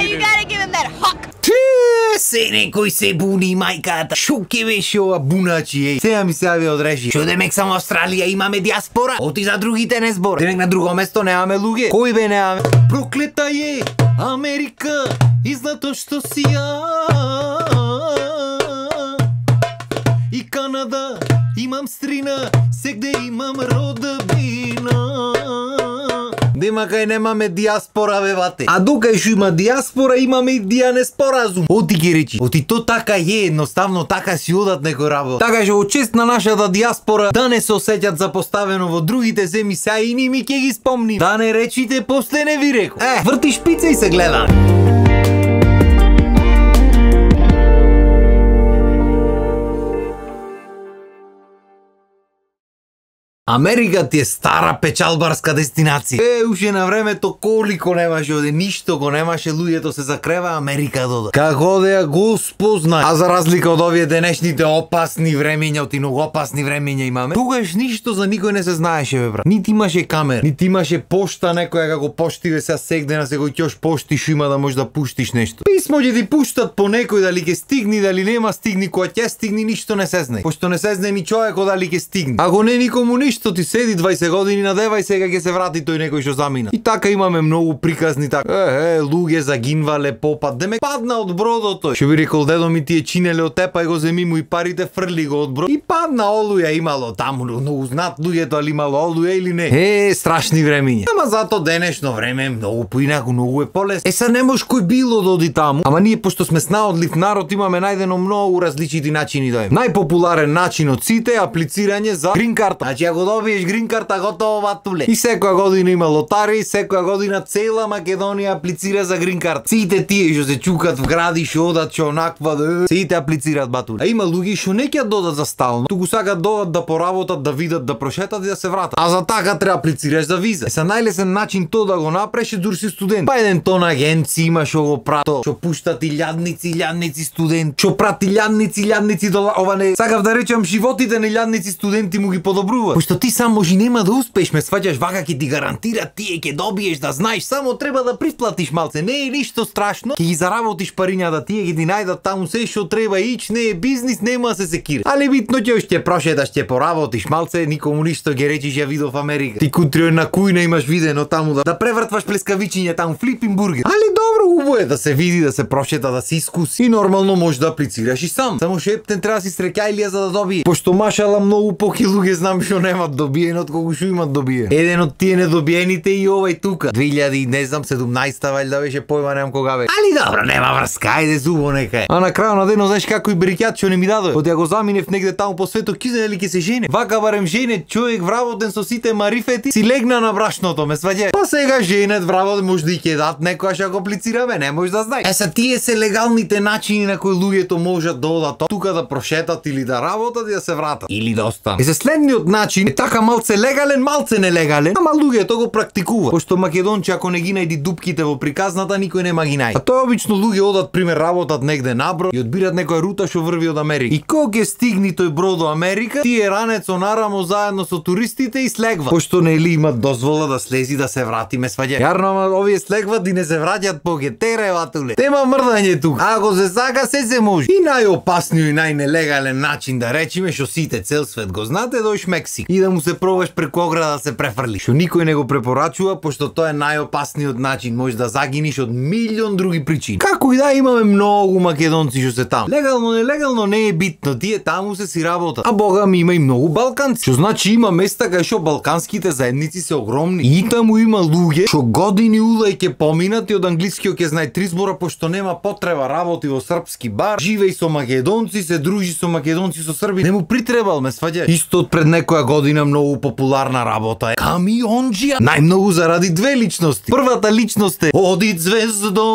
You gotta give him that huck. Се некој се буни мајката. Шо ке беше ова буначи, еј. Сега ми се јави одреши. Шо демек само Австралија имаме диаспора? Оти за другите не збор. Демек на друго место немаме луѓе. Кој бе немаме? Проклета е Америка и зато што си ја. И Канада имам стрина, сегде имам родбина. Нема кај немаме диаспора, бе бате. А докај шо има диаспора, имаме и дианеспоразум. Оти ги речи. Оти то така е, едноставно така си одат некој работа. Така што од чест на нашата диаспора да не се осеќат запоставено во другите земји, сега и ними ќе ги спомни. Да не речите, после не ви реко. Врти шпица и се гледа. Америка ти е стара печалбарска дестинација. Уште на времето колико немаше оде, ништо го немаше, луѓето се закрева, Америка дода. Како одеа го спозна. А за разлика од овие денешните опасни времења, оти многу опасни времења имаме, тогаш ништо за никој не се знаеше, бе брат. Нити имаше камера, нити имаше пошта некоја како поштиве сега сегде на секој ќош пошти шо има да можеш да пуштиш нешто. Писмо ќе ти пуштат по некој, дали ќе стигни, дали нема стигни, кога ќе стигни ништо не се знае. Пошто не се знае ни човекот дали ќе стигне. Ако не никому ништо, ти седи 20 години надева и сега ќе се врати тој некој што замина. И така имаме многу приказни така. Луѓе загинвале попад. Демек падна од бродото. Што би рекол дедо ми, тие чинеле од тепа и го земи му и парите, фрли го од брод. И падна олуја имало таму, многу знат луѓето, али имало олуја или не. Страшни времиња. Ама зато денешно време е многу поинаку, многу е полесно. Са не може кој било да оди таму. Ама ние пошто сме снаодлив народ имаме најдено многу различити начини да е. Најпопуларен начин од сите е аплицирање за грин карта. Значи ако добиеш грин карта, готово ватуле. И секоја година има лотари, секоја година цела Македонија аплицира за грин карта. Сите тие што се чукат в гради, што одат, што онаква, сите аплицираат батуле. А има луѓе што не ќе додат за стално, туку сакаат додат да поработат, да видат, да прошетат и да се вратат. А за така треба аплицираш за виза. Са најлесен начин тоа да го направиш дур си студент. Па еден тон агенци има што го прато, што пуштат илјадници студент, што прати илјадници до ова не. Сакав да речам животите на илјадници студенти му ги подобрува. Пошто ти само може нема да успееш, ме сваќаш, вака ќе ти гарантира, тие ќе добиеш, да знаеш, само треба да присплатиш малце, не е ништо страшно, ќе ги заработиш парињата, тие ќе ти најдат таму се што треба, ич не е бизнис, нема да се секира. Али битно ќе прошеташ, ќе поработиш малце, никому ништо ќе речиш, ја видов Америка. Ти кутрио на кујна имаш видено таму да превртваш плескавичиња таму, флипин бургер. Али добро, убаво е да се види, да се прошета, да се искуси и нормално може да аплицираш и сам. Само шептен треба си среќајлија за да добие. Пошто машала многу поки луѓе знам што немат добиено од колку што имат добие. Еден од тие недобиените и овај тука. 2000 не знам 17-та валјда беше, појма немам кога бе. Али добро, нема врска, ајде зубо нека е. А на крајот на денот знаеш како и брикјат што не ми дадоа. Од ја го заминев негде таму по светот, ки знае ли ќе се жене. Вака барем жене човек вработен со сите марифети, си легна на брашното, ме сваѓа. Па сега женет вработен може да и ќе дат некојаш ако аплицираме, не може да знаеш. Са тие се легалните начини на кои луѓето можат да одат тука да прошетат или да работат и да се вратат или да останат. Следниот начин е така малце легален, малце нелегален, ама луѓето го практикуваат. Пошто македонци ако не ги најди дупките во приказната, никој нема ги најде. А тоа обично луѓе одат пример работат негде набро и одбират некоја рута што врви од Америка. И кога ќе стигне тој брод до Америка, тие ранецо нарамо заедно со туристите и слегват. Пошто нели имат дозвола да слези да се врати, ме сваѓа. Јарно, ама овие слегват и не се враќаат по гетере ватуле. Тема мрдање тука. Ако се сака се може. И најопасниот и најнелегален начин да речеме што сите цел свет го знате, дојш Мексик и да му се пробаш преку ограда да се префрлиш. Што никој не го препорачува, пошто тоа е најопасниот начин, може да загиниш од милион други причини. Како и да имаме многу македонци што се таму. Легално, нелегално не е битно, тие таму се си работат. А бога ми има и многу балканци. Што значи има места кај што балканските заедници се огромни. И таму има луѓе што години улај ќе поминат и од англискиот ќе знае 3 збора, пошто нема потреба, работи во српски бар, живеј со македонци, се дружи со македонци, со срби. Не му притребал, ме сваѓа. Исто од пред некоја година многу популарна работа е камионџија. Најмногу заради две личности. Првата личност е Оди звездо,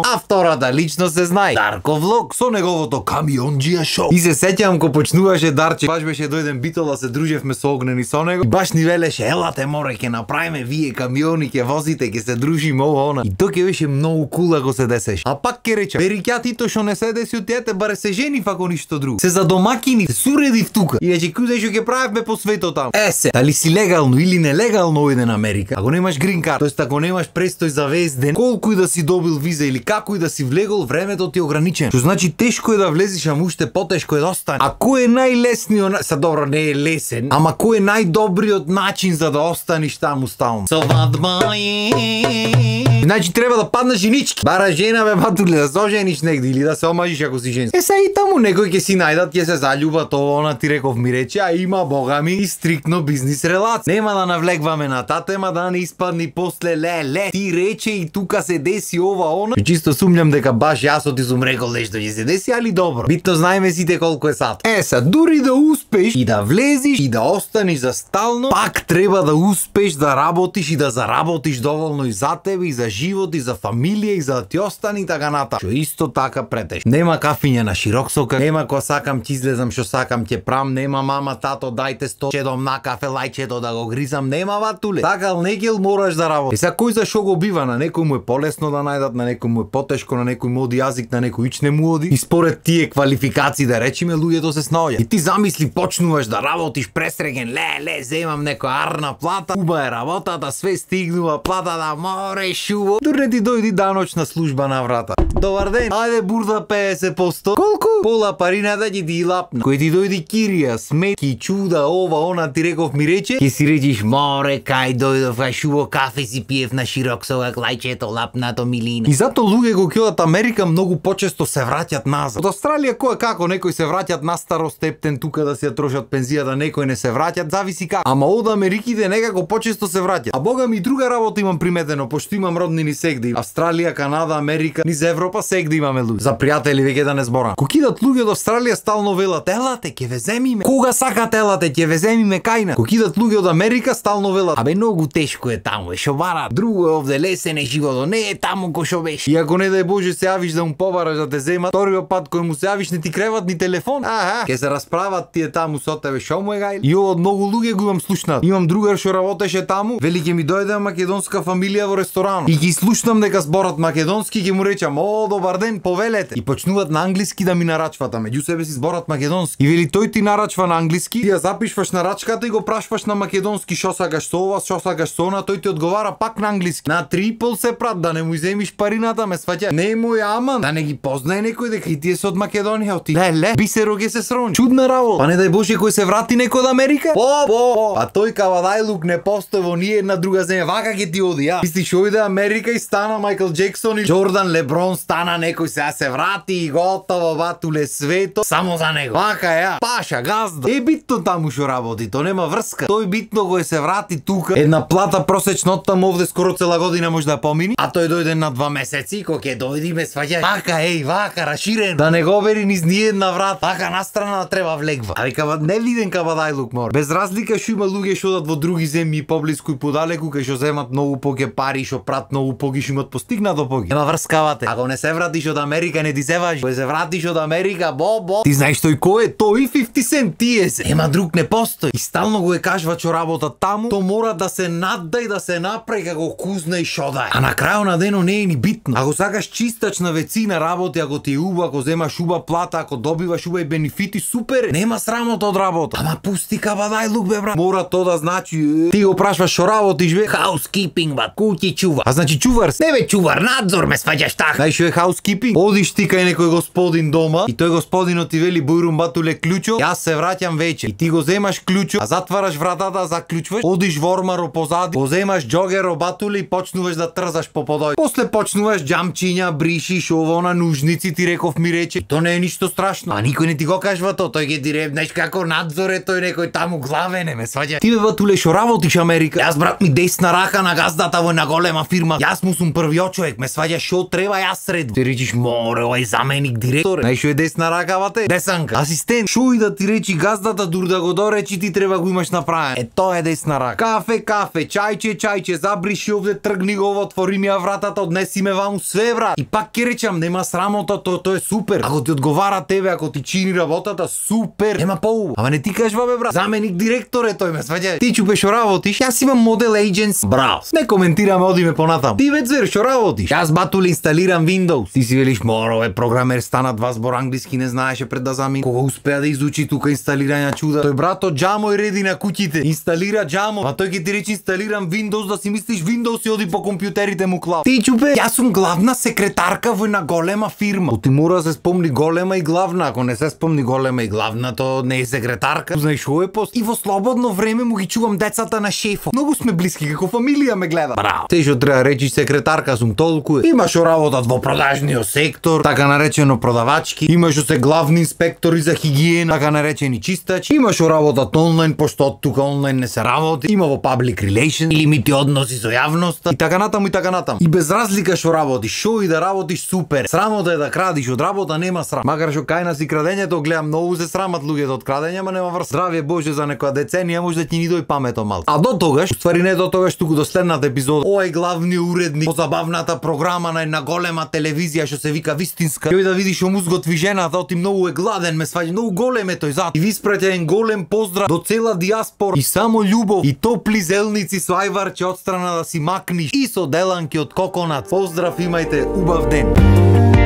а втората лично се знае. Дарко Влог со неговото камионџија шоу. И се сеќавам ко почнуваше Дарче, баш беше дојден битол да се дружевме со Огнен и со него. И баш ни велеше, елате море, ќе направиме вие камиони, ќе возите, ќе се дружиме ова она. И тоа ќе беше многу кул ако се десеше. А пак ќе речам, бериќа тито што не се деси од тете, баре се женив ако ништо друго. Се за домакини, се суредив тука. И вече куде што ќе правевме по светот таму. Се, дали си легално или нелегално ојде на Америка, ако немаш грин карт, тоест ако немаш престој за вест ден, колку и да си добил виза или како и да си влегол, времето ти е ограничено. Што значи тешко е да влезеш, ама уште потешко е да остане. А кој е најлесниот, са добро не е лесен, ама кој е најдобриот начин за да останеш таму стално? Свадба е. Значи треба да паднеш женички. Бара жена бе батуле, да се ожениш негде или да се омажиш ако си женски. Са и таму некој ќе си најдат, ќе се заљубат, ова она ти реков ми рече, а има бога ми и стриктно бизнис релација. Нема да навлегваме на таа тема, да не испадни после леле. Ти рече и тука се деси ова она. Чисто сумњам дека баш јас ти сум рекол нешто ќе се деси, али добро. Битно знаеме сите колку е сат. Са дури да успеш и да влезиш и да останеш за стално, пак треба да успеш да работиш и да заработиш доволно и за тебе, и за живот, и за фамилија, и за да ти остани така ната. Што исто така претеш. Нема кафиња на широк сокак, нема кога сакам ќе излезам, што сакам ќе прам, нема мама, тато, дајте 100 чедом на кафе лајчето да го гризам, нема ватуле. Такал негел мораш да работиш. Сега кој за шо го бива, на некој му е полесно да најдат, на некој му е потешко, на некој му оди јазик, на некој ич не му оди. И според тие квалификации да речеме луѓето се снаоѓаат. И ти замисли почнуваш да работиш пресреген, ле, земам некоја арна плата, уба е работата, све стигнува, плата да море шуво. Дури ти дојди даночна служба на врата. Добар ден, ајде бурда 50%. Колку? Пола парината ќе ти лапна. Кој ти дојди кирија, сметки, чуда, ова, она ти реков ми рече, ќе си речиш море, кај дојдов, кај шуво кафе си пиев на широк сокак, лајчето лапнато милина. И зато луѓе го ќе Америка многу почесто се враќат назад. Од Австралија кој како некои се враќат на старост ептен тука да си ја трошат пензијата, некои не се враќат, зависи како. Ама од Америките некако почесто се враќат. А бога ми друга работа имам приметено, пошто имам роднини сегде. Австралија, Канада, Америка, низ Европа сегде имаме луѓе. За пријатели веќе да не зборам. Ко кидат луѓе од Австралија стално велат, елате, ќе ве земиме. Кога сакат елате, ќе ве земиме кајна. Ко кидат луѓе од Америка стално велат, абе многу тешко е таму, е шо бара. Друго е овде лесен е животот, не е таму кој шо беше. И ако не дај Боже се јавиш да му побараш да те земат, вториот пат кој му се јавиш не ти креват ни телефон. Ке се расправат тие таму со тебе, шо му е гај. И ова од многу луѓе го имам слушнат. Имам другар што работеше таму, вели ќе ми дојде македонска фамилија во ресторан. И ги слушнам дека зборат македонски, ќе му речам, о, добар ден, повелете. И почнуваат на англиски да ми нарачват, а меѓу себе си зборат македонски. И вели тој ти нарачва на англиски, ти ја запишваш нарачката и го прашваш на македонски шо сакаш со ова, шо сакаш со она, тој ти одговара пак на англиски. На 3,5 се прат да не му иземиш парината, ме сваќа. Не е мој аман, да не ги познае некој дека и тие се од Македонија, ти. Ле, бисеро ге се срони. Чудна работа. Па не дај Боже кој се врати некој од Америка? Па тој кавадајлук не постои во ни една друга земја. Вака ќе ти оди, ја. Мислиш ојде Америка и стана Майкл Джексон и Джордан Леброн, стана некој сега се врати и готово батуле свето само за него. Вака ја. Паша, газда. Е битно таму што работи, то нема врска. Тој битно го се врати тука. Една плата просечно од таму овде скоро цела година може да помини, а тој дојде на 2 месеци, кој ќе дојди ме сваќа. Вака, вака, раширен. Да не го бери низ ни една врат. Вака настрана да треба влегва. Али не виден кавадајлук мор. Без разлика што има луѓе што одат во други земји поблиску и подалеку, кај што земат многу поќе пари, што прат многу поги, што имат постигнато поги. Нема врскавате. Ако не се вратиш од Америка не ти се важи. Кој се вратиш од Америка, бо. Ти знаеш тој кој е? Тој 50 Cent тие се. Нема друг не постои. И стално го е кажува што работа таму, то мора да се наддај да се направи како кузна и шо да е. А на крајот на денот не е ни битно. Ако сакаш чистач на вецина работи, ако ти е уба, ако земаш уба плата, ако добиваш уба и бенефити, супер. Нема срамота од работа. Ама пусти кабадајлук бе брат. Мора то да значи ти го прашваш шо работиш бе? Housekeeping бат, куќи чува. А значи чувар се? Не бе чувар, надзор ме сваќаш така. Знаеш што е housekeeping? Одиш ти кај некој господин дома и тој господинот ти вели бујрум батуле клучо, јас се враќам вече. И ти го земаш клучо, а затвараш вратата, заклучваш, одиш во ормаро позади, го земаш џогеро батуле и почнуваш да трзаш по подој. После почнуваш џамчиња, бришиш, ово на нужници, ти реков ми рече. То не е ништо страшно. А никој не ти го кажува то, тој ќе ти реб, знаеш како надзоре тој некој таму главене, ме сваѓа. Ти бе батуле шо работиш Америка? Јас брат ми десна рака на газдата во една голема фирма. Јас му сум првиот човек, ме сваѓа шо треба јас сред. Ти речиш море, овај заменик директор. Нај шо е десна рака бате? Десанка. Асистент. Шо и да ти речи газдата дур да го доречи ти треба го имаш направен. Тоа е десна рака. Кафе, чајче, забриши овде, тргни го, отвори ми ја вратата, однеси ме ваму све брат. И пак ќе речам, нема срамота, тоа е супер. Ако ти одговара тебе, ако ти чини работата, супер. Нема поубаво. Ама не ти кажеш бабе брат, заменик директор е тој, ме сваѓа. Ти чупе шо работиш? Јас имам модел agency. Браво. Не коментираме, одиме понатам. Ти веќе звер шо работиш? Јас батуле инсталирам Windows. Ти си велиш моро, програмер стана 2 збор англиски не знаеше пред да замин. Кога успеа да изучи тука инсталирање чуда? Тој брато џамо и реди на куќите. Инсталира џамо. А тој ќе ти рече инсталирам Windows, да си мислиш Windows и оди по компјутерите му клав. Ти чупе, јас сум главна секретарка во една голема фирма. Ти мора да се спомни голема и главна. Ако не се спомни голема и главна, то не е секретарка. Знаеш што е пост? И во слободно време му ги чувам децата на шефот. Многу сме блиски, како фамилија ме гледа. Браво. Те што треба речи секретарка сум толку. Имаш што работат во продажниот сектор, така наречено продавачки. Имаш што се главни инспектори за хигиена, така наречени чистачи. Имаш што работат онлайн, пошто од тука онлайн не се работи. Има во public relations или мити односи со јавноста. И така натаму и така натаму. И без разлика што работиш, шо и да работиш супер. Срамота е да крадиш, од работа нема срам. Макар што кај нас и крадењето гледам многу се срамат луѓето од крадење, ама нема врз. Здравје Боже за некоја деценија може да ти ни дој памето мал. А до тогаш, уствари не до тогаш, туку до следната епизода, овој главниот уредник по забавната програма на една голема телевизија што се вика Вистинска. Јој да видиш што му сготви жената, оти многу е гладен, ме сваѓа, многу голем е тој зад. И ви испраќа еден голем поздрав до цела диаспора и само љубов и топли зелници со ајварче од страна да си макниш и со деланки од коконат. Поздрав, имајте убав ден.